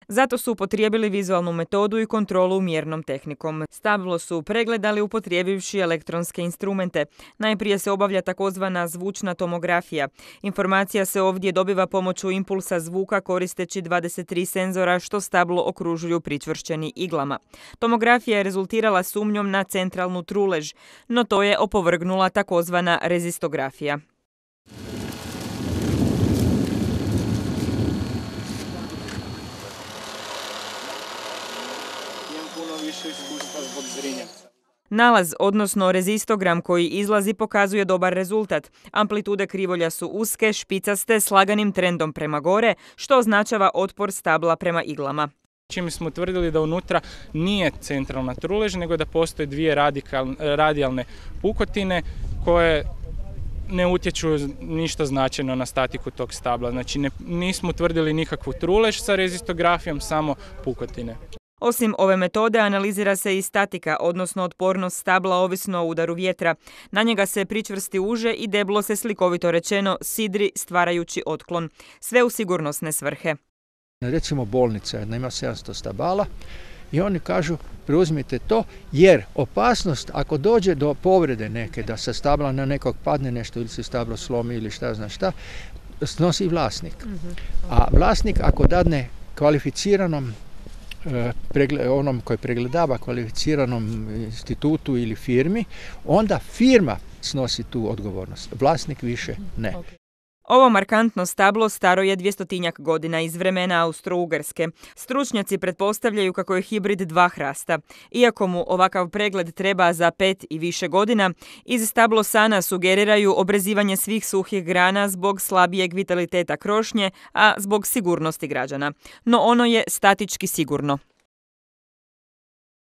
Zato su upotrijebili vizualnu metodu i kontrolu mjernom tehnikom. Stablo su pregledali upotrijebivši elektronske instrumente. Najprije se obavlja takozvana zvučna tomografija. Informacija se ovdje dobiva pomoću impulsa zvuka koristeći 23 senzora što stablo okružuju pričvršćeni iglama. Tomografija je rezultirala sumnjom na centralnu trulež, no to je opovrgnula takozvana rezistografija. Nalaz, odnosno rezistogram koji izlazi, pokazuje dobar rezultat. Amplitude krivolja su uske, špicaste, s laganim trendom prema gore, što označava otpor stabla prema iglama. Čime smo utvrdili da unutra nije centralna trulež, nego da postoje dvije radijalne pukotine koje ne utječu ništa značajno na statiku tog stabla. Znači nismo utvrdili nikakvu trulež sa rezistografijom, samo pukotine. Osim ove metode analizira se i statika, odnosno otpornost stabla ovisno o udaru vjetra. Na njega se pričvrsti uže i deblo se, slikovito rečeno, sidri stvarajući otklon. Sve u sigurnosne svrhe. Recimo bolnica jedna ima 700 stabala i oni kažu preuzmite to jer opasnost ako dođe do povrede neke, da sa stabla na nekog padne nešto ili se stablo slomi ili šta zna šta, snosi vlasnik. A vlasnik ako dadne kvalificiranom onom koji pregledava kvalificiranom institutu ili firmi, onda firma snosi tu odgovornost. Vlasnik više ne. Ovo markantno stablo staro je 200-tinjak godina iz vremena Austro-Ugarske. Stručnjaci pretpostavljaju kako je hibrid dva hrasta. Iako mu ovakav pregled treba za 5 i više godina, iz stablosana sugeriraju obrezivanje svih suhih grana zbog slabijeg vitaliteta krošnje, a zbog sigurnosti građana. No ono je statički sigurno.